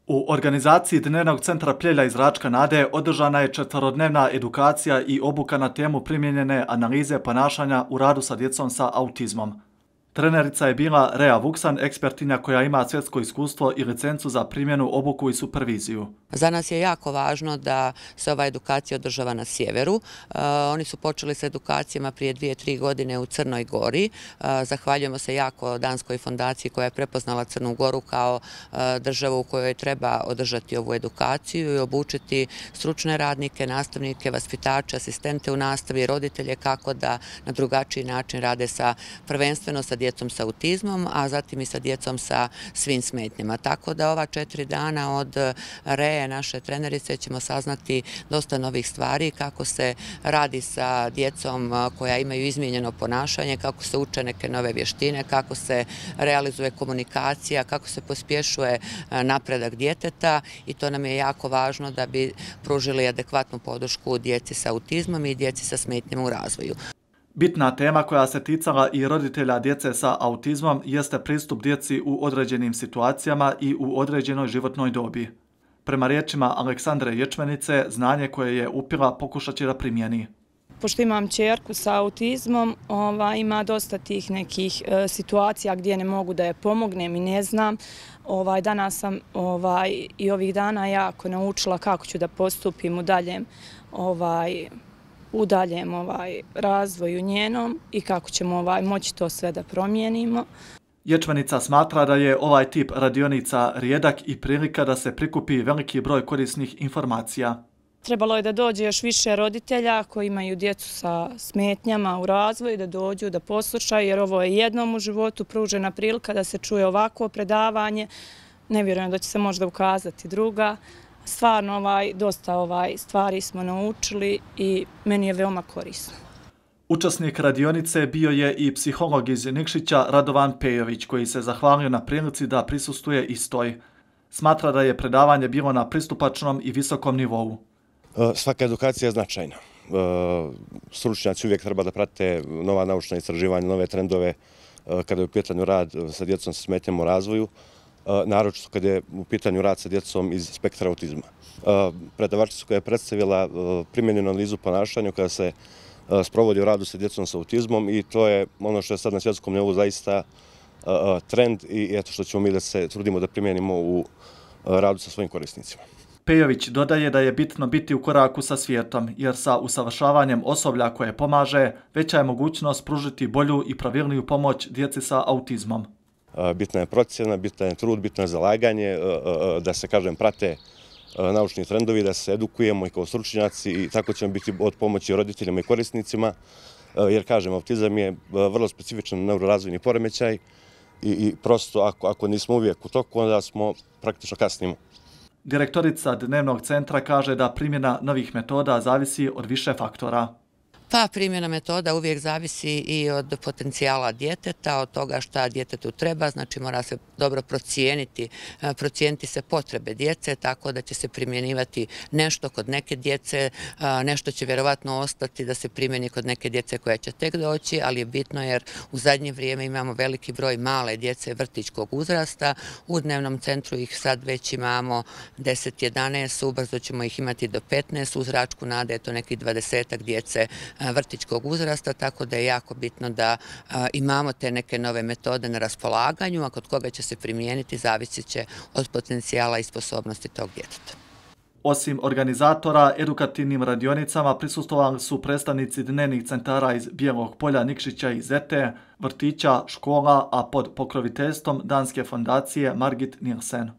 U organizaciji Dnevnog centra Pljelja iz Račka Nade održana je 4-dnevna edukacija i obuka na temu primijenjene analize ponašanja u radu sa djecom sa autizmom. Trenerica je bila Rea Vuksan, ekspertinja koja ima svjetsko iskustvo i licencu za primjenu, obuku i superviziju. Za nas je jako važno da se ova edukacija održava na sjeveru. Oni su počeli sa edukacijama prije 2-3 godine u Crnoj Gori. Zahvaljujemo se jako Danskoj fondaciji koja je prepoznala Crnu Goru kao državu u kojoj treba održati ovu edukaciju i obučiti stručne radnike, nastavnike, vaspitače, asistente u nastavi, roditelje kako da na drugačiji način rade prvenstveno sa djecom sa autizmom, a zatim i sa djecom sa svim smetnjama. Tako da ova 4 dana od Reje, naše trenerice, ćemo saznati dosta novih stvari, kako se radi sa djecom koja imaju izmijenjeno ponašanje, kako se uče neke nove vještine, kako se realizuje komunikacija, kako se pospješuje napredak djeteta i to nam je jako važno da bi pružili adekvatnu podršku djeci sa autizmom i djeci sa smetnjama u razvoju. Bitna tema koja se ticala i roditelja djece sa autizmom jeste pristup djeci u određenim situacijama i u određenoj životnoj dobi. Prema riječima Aleksandre Ječmenice, znanje koje je upila pokušat će da primjeni. Pošto imam ćerku sa autizmom, ima dosta tih nekih situacija gdje ne mogu da je pomognem i ne znam. Danas sam i ovih dana jako naučila kako ću da postupim u daljem razvoju njenom i kako ćemo moći to sve da promijenimo. Ječmenica smatra da je ovaj tip radionica rijedak i prilika da se prikupi veliki broj korisnih informacija. Trebalo je da dođe još više roditelja koji imaju djecu sa smetnjama u razvoju, da dođu, da poslušaju, jer ovo je jednom u životu pružena prilika da se čuje ovako predavanje. Ne vjerujem da će se možda ukazati druga. Stvarno dosta stvari smo naučili i meni je veoma korisno. Učesnik radionice bio je i psiholog iz Nikšića Radovan Pejović, koji se zahvalio na prilici da prisustvuje istoj. Smatra da je predavanje bilo na pristupačnom i visokom nivou. Svaka edukacija je značajna. Stručnjaci uvijek treba da prate nova naučna istraživanja, nove trendove kada je u pitanju rad sa djecom sa smetnjama u razvoju, naročito kada je u pitanju rad sa djecom iz spektra autizma. Predavačica koja je predstavila primjenjenu analizu ponašanja koja se sprovodi u radu sa djecom sa autizmom i to je ono što je sad na svjetskom nivou zaista trend i eto što ćemo mi da se trudimo da primjenimo u radu sa svojim korisnicima. Pejović dodaje da je bitno biti u koraku sa svijetom, jer sa usavršavanjem osoblja koje pomaže, veća je mogućnost pružiti bolju i pravilniju pomoć djeci sa autizmom. Bitna je procjena, bitan je trud, bitno je zalaganje, da se, prate naučni trendovi, da se edukujemo i kao stručnjaci i tako ćemo biti od pomoći roditeljima i korisnicima, jer, autizam je vrlo specifičan neurorazvojni poremećaj i prosto ako nismo uvijek u toku, onda smo praktično kasnimo. Direktorica Dnevnog centra kaže da primjena novih metoda zavisi od više faktora. Pa primjena metoda uvijek zavisi i od potencijala djeteta, od toga šta djetetu treba, znači mora se dobro procijeniti se potrebe djece, tako da će se primjenjivati nešto kod neke djece, nešto će vjerovatno ostati da se primjeni kod neke djece koja će tek doći, ali je bitno jer u zadnje vrijeme imamo veliki broj male djece vrtićkog uzrasta, u Dnevnom centru ih sad već imamo 10-11, ubrzo ćemo ih imati do 15, uz Račku Nade je to nekih 20 djece vrtićkog uzrasta, tako da je jako bitno da imamo te neke nove metode na raspolaganju, a kod koga će se primijeniti zavisit će od potencijala i sposobnosti tog djeteta. Osim organizatora, edukativnim radionicama prisustvovali su predstavnici dnevnih centara iz Bijelog Polja, Nikšića i Zete, vrtića, škola, a pod pokroviteljstvom Danske fondacije Margit Nielsen.